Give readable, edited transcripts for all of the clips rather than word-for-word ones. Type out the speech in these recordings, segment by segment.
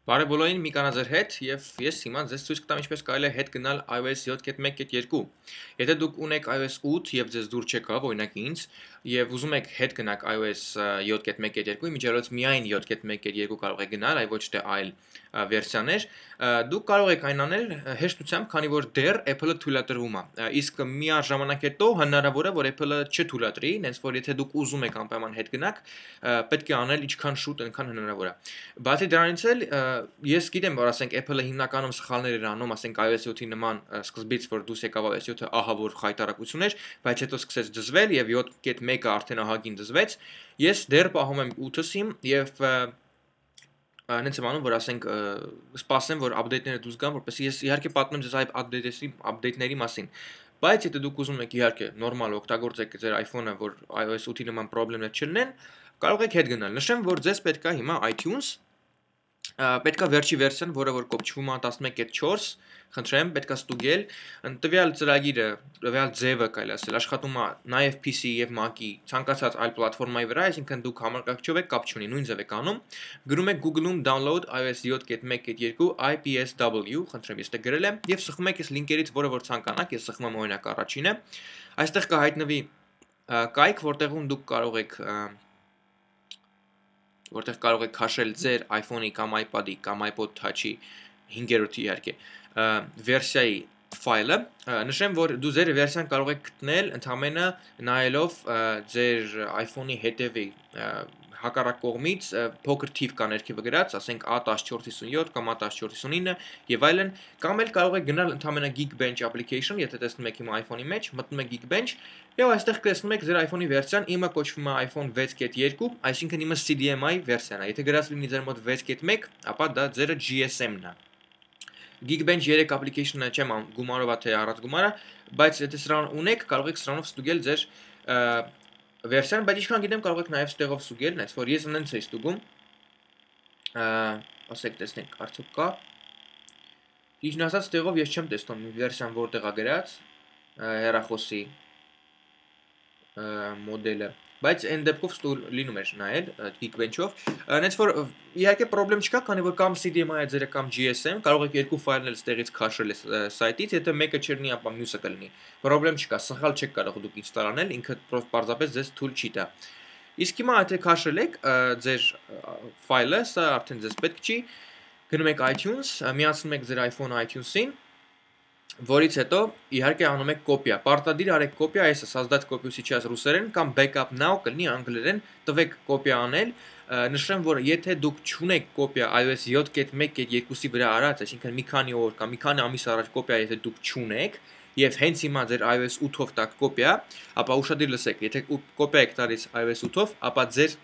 Բարև բոլորին, մի կանա ձեր հետ եւ ես հիմա ձեզ ցույց կտամ ինչպես կարելի է հետ գնալ iOS 7.1.2։ Եթե դուք ունեք iOS 8 եւ ձեզ դուր չեկավ, օրինակ ինձ, եւ ուզում եք հետ գնաք iOS 7.1.2-ի, միջալոց միայն 7.1.2 կարող եք գնալ, այլ ոչ թե այլ վերսիաներ, դուք կարող եք այն անել հեշտությամբ, քանի որ դեռ Apple-ը թույլատրվում է։ Իսկ միաժամանակ հետո հնարավոր է, որ Apple-ը չթույլատրի, հենց որ եթե դուք ուզում եք անպայման հետ գնաք, պետք է անել ինչքան շուտ, այնքան հնարավոր է։ Բացի դրանից էլ ես գիտեմ, որ ասենք Apple-ը հիմնականում սխալներ էր անում, ասենք iOS 7-ի նման սկզբից, որ դուրս եկավ iOS 7-ը ահա որ խայտարակություն էր, բայց հետո սկսեց դզվել եւ 7.1-ը արդեն ահագին դզվեց։ Ես դեռ պահում եմ 8-ս իմ եւ նենց եմ անում, որ ասենք սպասեմ, որ update-ները դուրս գան, որպեսզի ես իհարկե պատմեմ ձեզ այդ update-ների մասին։ Բայց եթե դուք ուզում եք իհարկե նորմալ օգտագործեք ձեր iPhone-ը, որ iOS 8-ի նման խնդիրներ չլինեն, կարող եք հետ գնալ։ Նշեմ, որ ձեզ պետք է հիմա iTunes պետք է վերջի վերսիան, որը որ կոչվում է 11.4, խնդրեմ, պետք է ստուգել, տվյալ ծրագիրը, տվյալ ձևը կարելի ասել, աշխատում է նաև PC եւ Mac-ի ցանկացած այլ պլատֆորմայի վրա, այսինքն դուք համակարգչով եք, կապ չունի, նույն ձև եք անում, գրում եք Google-ում download iOS 7.1.2 IPSW, խնդրեմ, ես դե գրել եմ եւ սխում եք այս լինքերից, որը որ ցանկանաք, ես սխում եմ օրինակ առաջինը, այստեղ կհայտնվի կայք, որտեղ կարող եք քաշել ձեր iPhone-ի կամ iPad-ի կամ iPod Touch-ի 5-րդի իհարկե վերսիայի ֆայլը, նշեմ, որ դու ձեր վերսիան կարող եք գտնել ընդամենը նայելով ձեր iPhone-ի հետևի հակառակ կողմից փոքր թիվ կա ներքևը գրած, ասենք A1457 կամ A1459 եւ այլն, կամ էլ կարող եք գնալ ընդամենը Geekbench application, եթե տեսնում եք հիմա iPhone-ի մեջ, մտնում եք Geekbench եւ այստեղ տեսնում եք ձեր iPhone-ի վերսիան, իմը կոչվում է iPhone 6.2, այսինքն իմը CDMI վերսիան է։ Եթե գրած լինի ձեր մոտ 6.1, ապա դա ձերը GSM-ն է։ Geekbench 3 application-ը չեմ գումարով թե առանց գումարը, բայց եթե սրան ունեք, կարող եք սրանով ստուգել ձեր վերսիան, բայց ինչքան գիտեմ կարող եք նաև ստեղով ստուգել, նայած որ ես նենց էի ստուգում, ասեք տեսնենք արդյոք կա։ Ճիշտն ասած ստեղով ես չեմ տեսնում վերսիան որտեղ է գրած, հեռախոսի մոդելը, բայց այն դեպքով լինում էր նայել Geekbench-ով, նենց որ իհարկե խնդրեմ չկա, քանի որ կամ CDMI-ը ձերը կամ GSM, կարող եք երկու ֆայլներ ստեղից քաշել սայթից, եթե մեկը չլինի, ապա մյուսը կլինի։ Խնդրեմ չկա, սխալ չեք կարող դուք ինստալ անել, ինքը պարզապես ձեզ թույլ չի տա։ Իսկ հիմա եթե քաշել եք ձեր ֆայլը, սա արդեն ձեզ պետք չի, գնում եք iTunes, միացնում եք ձեր iPhone iTunes-ին, որից հետո իհարկե անում եք կոպիա, պարտադիր արեք կոպիա, այսը создать կոպիու сейчас ռուսերեն կամ backup now կլինի անգլերեն, տվեք կոպիա անել, նշեմ, որ եթե դուք չունեք կոպիա iOS 7.1.2-ի վրա արած, այսինքն մի քանի օր կամ մի քանի ամիս առաջ կոպիա եթե դուք չունեք եւ հենց հիմա ձեր iOS 8-ով տակ կոպիա, ապա ուշադիր լսեք, եթե կոպիա եք տալիս iOS 8-ով, ապա ձեր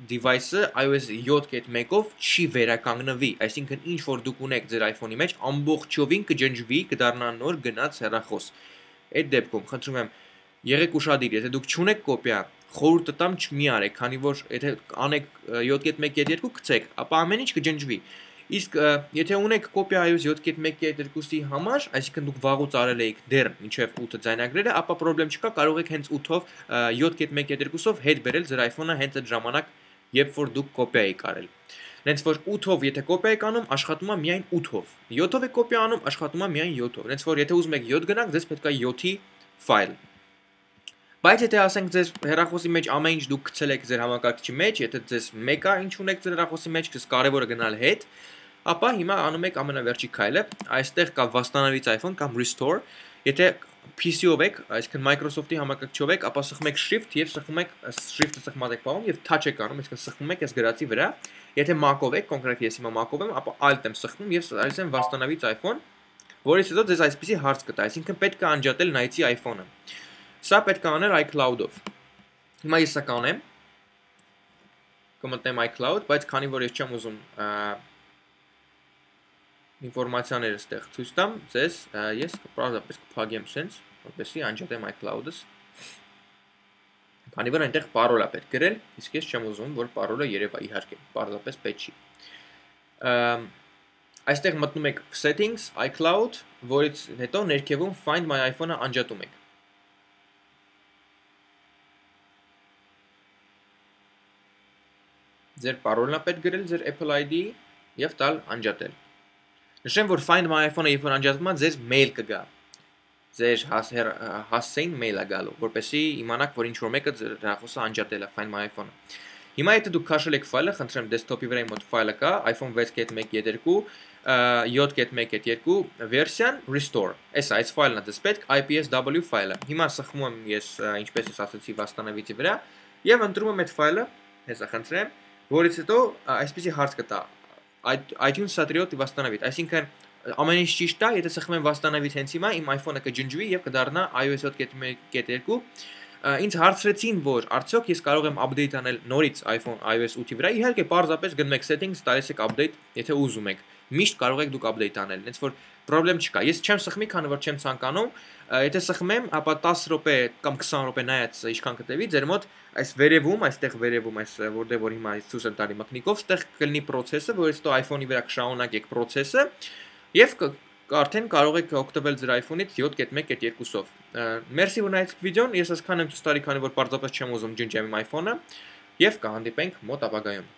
device-ը iOS 7.1-ով չի վերականգնվի, այսինքն ինչ որ դուք ունեք ձեր iPhone-ի մեջ, ամբողջովին կջնջվի, կդառնա նոր գնաց հեռախոս։ Այդ դեպքում խնդրում եմ, եղեք ուշադիր, եթե դուք չունեք կոպիա, խորհուրդ տամ չմի արեք, քանի որ եթե անեք 7.1.2 գցեք, ապա ամեն ինչ կջնջվի։ Իսկ եթե ունեք կոպիա iOS 7.1.2-ի համար, այսինքն դուք վաղուց արել եք դեռ մինչև 8-ը ձայնագրերը, ապա խնդրեմ չկա, կարող եք հենց 8-ով 7.1.2-ով հետ բերել ձեր iPhone-ը հենց այդ ժամանակ, երբ որ դուք կոպիա եք արել։ Նենց որ 8-ով եթե կոպիա եք անում, աշխատում է միայն 8-ով։ 7-ով եք կոպիա անում, աշխատում է միայն 7-ով։ Նենց որ եթե ուզում եք 7 գնանք, ձեզ պետք է 7-ի ֆայլ։ Բայց եթե ասենք ձեր հեռախոսի մեջ ամեն ինչ դուք գցել եք ձեր համակարգչի մեջ, եթե ձեզ մեկը ինչ ունեք ձեր հեռախոսի մեջ, կս կարևորը գնալ հետ, ապա հիմա անում եք ամենավերջի քայլը, այստեղ կա վաստանավից iPhone կամ restore, եթե PC-ով եք, այսինքն Microsoft-ի համակարգչով եք, ապա սխում եք shift եւ սխում եք shift-ը սխմած եք պահում եւ touch եք անում, այսինքն սխում եք այս գրածի վրա։ Եթե Mac-ով եք, կոնկրետ ես հիմա Mac-ով եմ, ապա alt եմ սխում եւ այս եմ վաստանավից iPhone, որից հետո ձեզ այսպեսի հարց կտա, այսինքն պետք է անջատել նայեցի iPhone-ը։ Սա պետք է անել iCloud-ով։ Հիմա ես սա կանեմ։ Կմտնեմ iCloud, բայց քանի որ ես չեմ ուզում ինֆորմացիաները ստեղ ցույց տամ, ձեզ ես պարզապես կփակեմ sense, որպեսզի անջատեմ iCloud-ս։ Քանի որ այնտեղ parole-ը պետք գրել, իսկ ես չեմ ուզում, որ parole-ը երևա իհարկե, պարզապես պետք չի։ Այստեղ մտնում եք settings, iCloud, որից հետո ներքևում find my iPhone-ը անջատում եք։ Ձեր parole-ն է պետք գրել, ձեր Apple ID-ի, եւ տալ անջատել։ Նշեմ, որ Find My iPhone-ը երբ որ անջատվում է, ձեզ mail կգա։ Ձեր հասցեին mail-ը գալու, որպեսզի իմանաք, որ ինչ-որ մեկը ձեր հեռախոսը անջատել է Find My iPhone-ը։ Հիմա եթե դուք քաշել եք ֆայլը, խնդրեմ դեսքթոփի վրա իմ մոտ ֆայլը կա, iPhone 6.1.2 7.1.2 վերսիան restore։ Այս ֆայլն է դες պետք IPSW ֆայլը։ Հիմա սխմում եմ ես ինչպես ես ասացի վաստանավիճի վրա եւ ընտրում եմ այդ ֆայլը, հեսա խնդրեմ, որից հետո այսպեսի հարց կտա iTunes Satriot վաստանավիճ, այսինքն ամեն ինչ ճիշտ է, եթե սխմեմ վաստանավիճ հենց հիմա իմ iPhone-ը կջնջվի եւ կդառնա iOS 7.1.2 Ինձ հարցրեցին, որ արդյոք ես կարող եմ update անել նորից iPhone iOS 8-ի վրա, իհարկե պարզապես գնում եք settings, տալիս եք update, եթե ուզում եք։ Միշտ կարող եք դուք update անել, հենց որ problem չկա։ Ես չեմ սխմի, քանի որ չեմ ցանկանում, եթե սխմեմ, ապա 10 րոպե կամ 20 րոպե նայած ինչքան կտևի, ձեր մոտ այս վերևում, այստեղ վերևում, այս որտեղ որ հիմա ցույց եմ տալի մակնիկով, այստեղ կլինի process-ը, որից հետո iPhone-ի վրա կշարունակեք process-ը եւ արդեն կարող եք օգտվել ձեր iPhone-ից 7.1.2-ով։ Մերսի որ նայեցիք վիդեոն, ես այսքան եմ ցույց տալի, քանի որ պարզապես չեմ ուզում ջնջեմ իմ iPhone-ը եւ կհանդիպենք մոտ ապագայում։